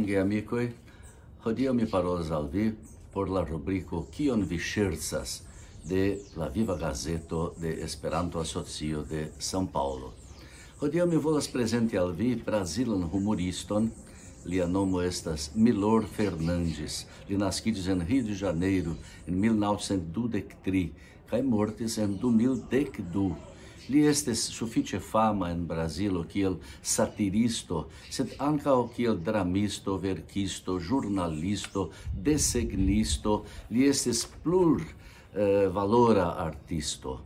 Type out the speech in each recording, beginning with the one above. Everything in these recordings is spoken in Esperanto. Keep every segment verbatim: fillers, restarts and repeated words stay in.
Geamikoj, hodiaŭ mi parolas al vi por la rubriko Kion vi ŝercas de la Viva Gazeto de Esperanto Asocio de São Paulo. Hodiaŭ mi volas prezenti al vi brazilan humoriston. Lia nomo estas Milor Fernandes. Li naskiĝis en Rio de Janeiro en mil naŭcent dudek tri kaj mortis en du mil dek du. Li estis sufiĉe fama en Brazilo kiel satiristo, sed ankaŭ kiel dramisto, verkisto, ĵurnalisto, desegnisto. Li estis plur eh, valora artisto,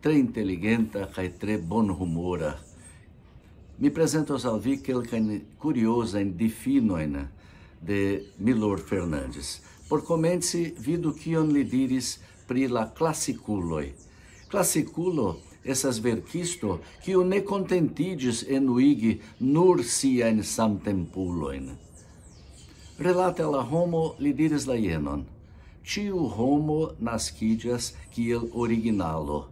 tre inteligenta kaj tre bonhumora. Mi prezentos al vi kelkajn kuriozajn difinojn de Milor Fernandes. Por komenci, vidu kion li diris pri la klasikuloj. Klasikulo estas verkisto, kiu ne kontentiĝis enuigi nur siajn samtempulojn. Relate al la homo, li diris la jenon: "Ĉiu homo naskiĝas kiel originalo,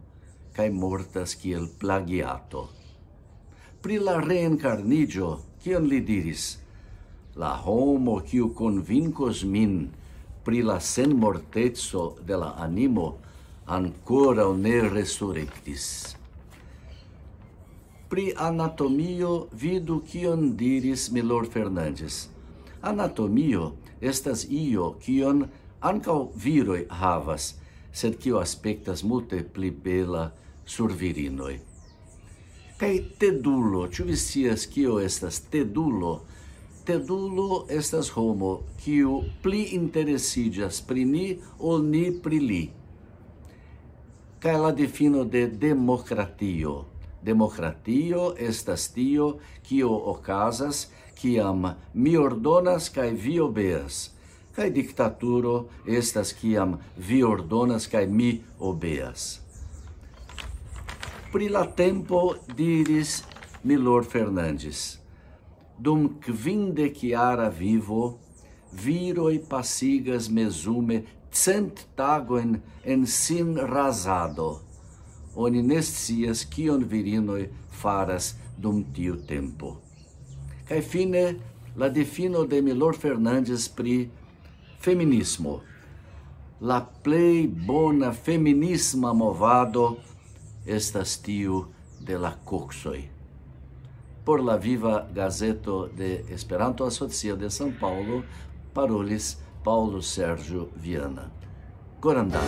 kaj mortas kiel plagiato." Pri la reenkarniĝo, kion li diris? "La homo, kiu konvinkos min pri la senmorteco de la animo, ankoraŭ ne resurektis." Pri anatomio, vidu kion diris Milor Fernandes. Anatomio estas io, kion ankaŭ viroj havas, sed kio aspektas multe pli bela sur virinoj. Kaj tedulo, ĉu vi scias, kio estas tedulo? Tedulo estas homo, kiu pli interesiĝas pri ni, ol ni pri li. Kaj la difino de demokratio. Demokratio estas tio, kio okazas, kiam mi ordonas kaj vi obeas. Kaj diktaturo estas, kiam vi ordonas kaj mi obeas. Pri la tempo diris Milor Fernandes: "Dum kvindekjara vivo, viroj pasigas mezume cent tagojn en sin razado. Oni ne scias, kion virinoj faras dum tiu tempo." Kaj fine, la difino de Milor Fernandes pri feminismo. "La plej bona feminisma movado estas tiu de la koksoj." Por la Viva Gazeto de Esperanto Asocio de São Paulo, parolis Paulo Sérgio Viana. Gorandan.